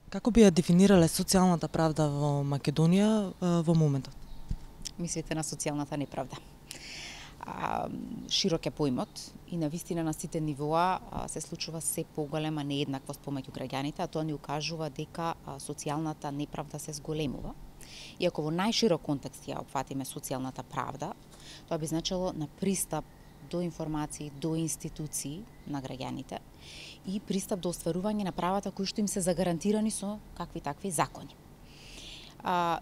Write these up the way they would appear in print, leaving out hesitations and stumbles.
Како би ја дефинирале социјалната правда во Македонија во моментот? Мислите на социјалната неправда. Широк е поимот и навистина на сите нивоа се случува се поголема нееднаквост помеѓу граѓаните, а тоа ни укажува дека социјалната неправда се зголемува. И ако во најширок контекст ја опфатиме социјалната правда, тоа би значило на пристап до информации, до институции на граѓаните и пристап до остварување на правата кои што им се загарантирани со какви такви закони.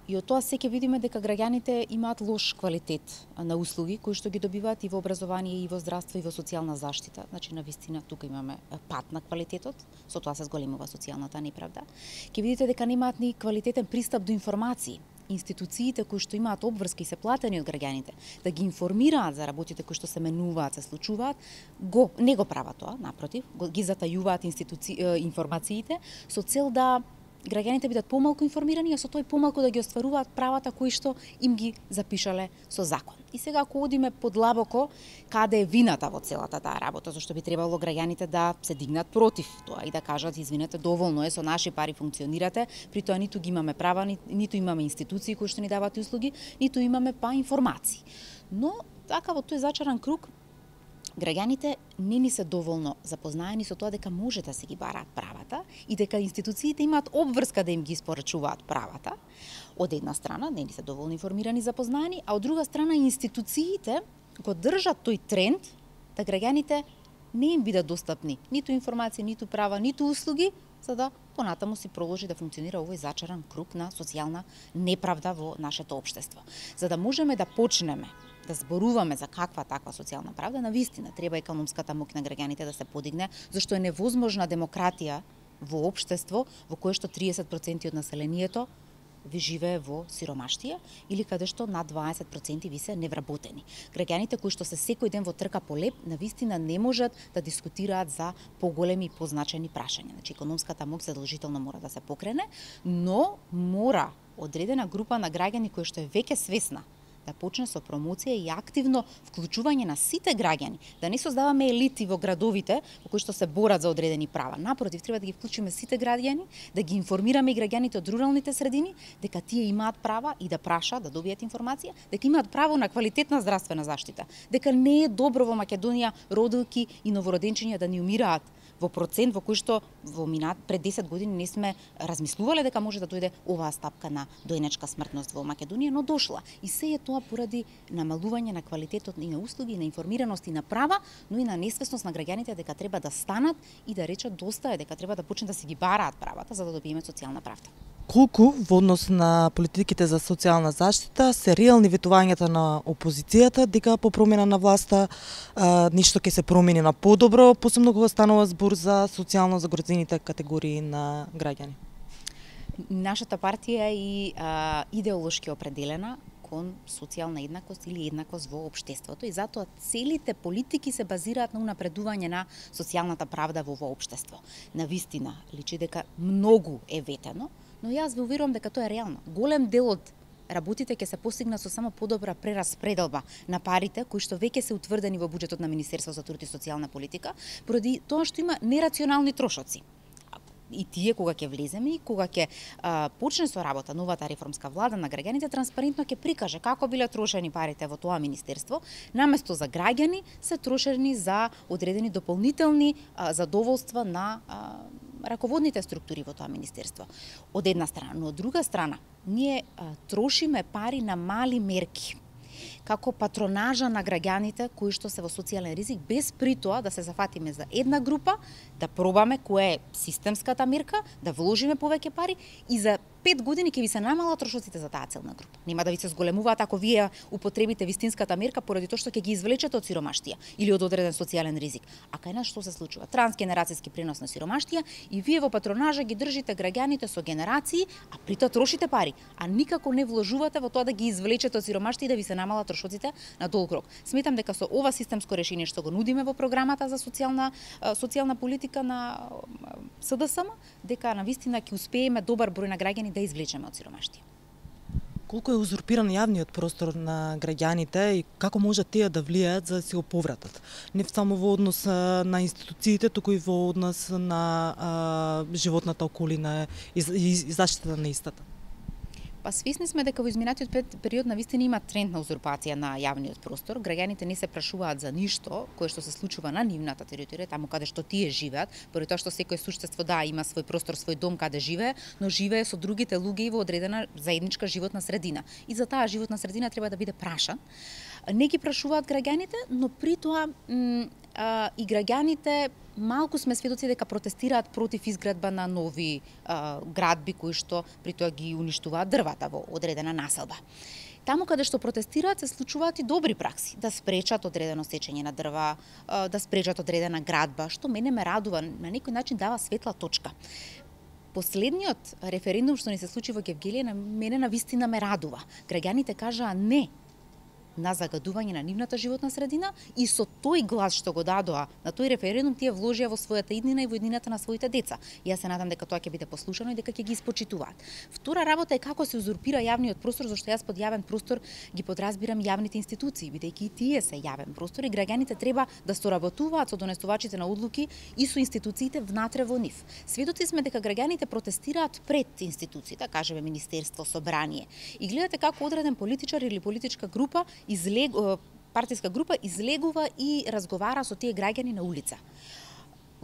И од тоа се ќе видиме дека граѓаните имаат лош квалитет на услуги кои што ги добиваат и во образование, и во здравство, и во социјална заштита. Значи, навистина, тука имаме пат на квалитетот, со тоа се зголемува социјалната неправда. Ќе видите дека немаат ни квалитетен пристап до информации. Институциите кои што имаат обврски и се платени од граѓаните да ги информираат за работите кои што се менуваат, се случуваат, не го прават тоа, напротив, ги затајуваат информациите со цел да граѓаните бидат помалку информирани, а со тој помалку да ги остваруваат правата кои што им ги запишале со закон. И сега ако одиме подлабоко, каде е вината во целата таа работа, зашто би требало граѓаните да се дигнат против тоа и да кажат извинете, доволно е, со наши пари функционирате, при тоа ниту ги имаме права, ниту имаме институции кои што ни даваат услуги, ниту имаме информации. Но така во тој зачаран круг граѓаните не ни се доволно запознаени со тоа дека може да се ги бараат правата и дека институциите имаат обврска да им ги испорачуваат правата. Од една страна, не ни се доволно информирани, запознаени, а од друга страна институциите го држат тој тренд да граѓаните не им бидат достапни ниту информации, ниту права, ниту услуги, за да понатаму си продолжи да функционира овој зачаран круг на социјална неправда во нашето општество. За да можеме да почнеме да зборуваме за каква таква социјална правда, навистина треба економската моќ на граѓаните да се подигне, зашто е невозможна демократија во општество во кое што 30% од населението ви живее во сиромаштија или каде што над 20% ви се невработени. Граѓаните кои што се секој ден во трка по леп, навистина не можат да дискутираат за поголеми и позначени прашања. Значи, економската моќ задолжително мора да се покрене, но мора одредена група на граѓани кои што е веќе свесна да почне со промоција и активно вклучување на сите граѓани, да не создаваме елити во градовите во кои што се борат за одредени права. Напротив, треба да ги вклучиме сите граѓани, да ги информираме и граѓаните од руралните средини дека тие имаат права и да прашаат, да добијат информација, дека имаат право на квалитетна здравствена заштита, дека не е добро во Македонија родилки и новороденчиња да ни умираат во процент во кој што пред 10 години не сме размислувале дека може да дојде оваа стапка на дојнечка смртност во Македонија, но дошла. И се е тоа поради намалување на квалитетот и на услуги, и на информираност и на права, но и на несвесност на граѓаните дека треба да станат и да речат доста е, дека треба да почнат да си ги бараат правата за да добиеме социјална правда. Колку во однос на политиките за социјална заштита се реални ветувањата на опозицијата дека по промена на власта ништо ќе се промени на подобро, посебно кога станува збор за социјално загрозените категории на граѓани? Нашата партија е идеолошки определена кон социјална еднакост или еднакост во општеството и затоа целите политики се базираат на унапредување на социјалната правда во овој општество. Навистина, личи дека многу е ветено, но јас ве уверувам дека тоа е реално. Голем дел од работите ќе се постигнат со само подобра прераспределба на парите кои што веќе се утврдени во буџетот на Министерството за труд и социјална политика, поради тоа што има нерационални трошоци. И тие кога ќе влеземе и кога ќе почне со работа новата реформска влада на граѓаните, транспарентно ќе прикаже како биле трошени парите во тоа министерство, наместо за граѓани се трошени за одредени дополнителни задоволства на раководните структури во тоа министерство. Од една страна, но од друга страна, ние трошиме пари на мали мерки како патронажа на граѓаните кои што се во социјален ризик, без при тоа да се зафатиме за една група, да пробаме која е системската мерка, да вложиме повеќе пари и за 5 години ќе ви се намалат трошоците за таа целна група. Нема да ви се зголемуваат ако вие употребите вистинската мерка поради тоа што ќе ги извлечете од сиромаштија или од одреден социјален ризик. А кај нас што се случува? Трансгенерацијски пренос на сиромаштија и вие во патронажа ги држите граѓаните со генерации, а при тоа трошите пари, а никако не вложувате во тоа да ги извлечете од сиромаштија и да ви се намалат трошоците на долг рок. Сметам дека со ова системско решение што го нудиме во програмата за социјална политика на СДСМ, дека навистина ќе успееме добар број на граѓани да извлечеме од сиромаштија. Колку е узурпиран јавниот простор на граѓаните и како може тие да влијаат за да си го повратат? Не само во однос на институциите, туку и во однос на животната околина и заштита на истата. Па свесни сме дека во изминатиот период навистина има тренд на узурпација на јавниот простор. Граѓаните не се прашуваат за ништо кое што се случува на нивната територија, таму каде што тие живеат, поради тоа што секој суштество има свој простор, свој дом каде живее, но живее со другите луѓе во одредена заедничка животна средина. И за таа животна средина треба да биде прашан. Не ги прашуваат граѓаните, но при тоа и граѓаните малку сме сведоци дека протестираат против изградба на нови градби кои што при тоа ги уништуваат дрвата во одредена населба. Таму каде што протестираат се случуваат и добри пракси, да спречат одредено сечење на дрва, да спречат одредена градба, што мене ме радува, на некој начин дава светла точка. Последниот референдум што ни се случи во Гевгелија на мене навистина ме радува. Граѓаните кажаа не на загадување на нивната животна средина и со тој глас што го дадоа на тој референдум тие вложија во својата иднина и во иднината на своите деца. И јас се надам дека тоа ќе биде послушано и дека ќе ги испочитуваат. Втора работа е како се узурпира јавниот простор, зашто јас под јавен простор ги подразбирам јавните институции, бидејќи и тие се јавен простор и граѓаните треба да соработуваат со донесувачите на одлуки и со институциите внатре во нив. Сведоци сме дека граѓаните протестираат пред институциите, кажеме Министерство, Собрание. И гледате како одреден политичар или политичка група партиска група излегува и разговара со тие граѓани на улица.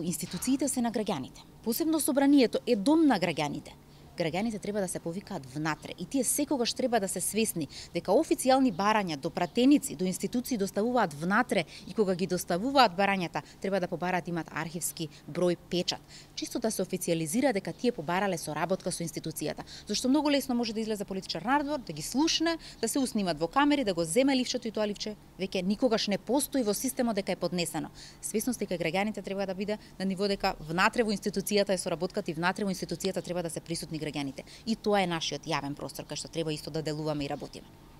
Институциите се на граѓаните. Посебно Собранието е дом на граѓаните. Граѓаните треба да се повикаат внатре и тие секогаш треба да се свесни дека официјални барања до пратеници, до институции доставуваат внатре и кога ги доставуваат барањата треба да побараат имат архивски број печат. Чисто да се официјализира дека тие побарале соработка со институцијата. Зашто многу лесно може да излезе политичар надвор, да ги слушне, да се уснимат во камери, да го земе ливчето и тоа ливче веќе никогаш не постои во системот дека е поднесено. Свесност дека граѓаните треба да биде на ниво дека внатре во институцијата е соработката и внатре во институцијата треба да се присутни граѓаните. И тоа е нашиот јавен простор кај што треба исто да делуваме и работиме.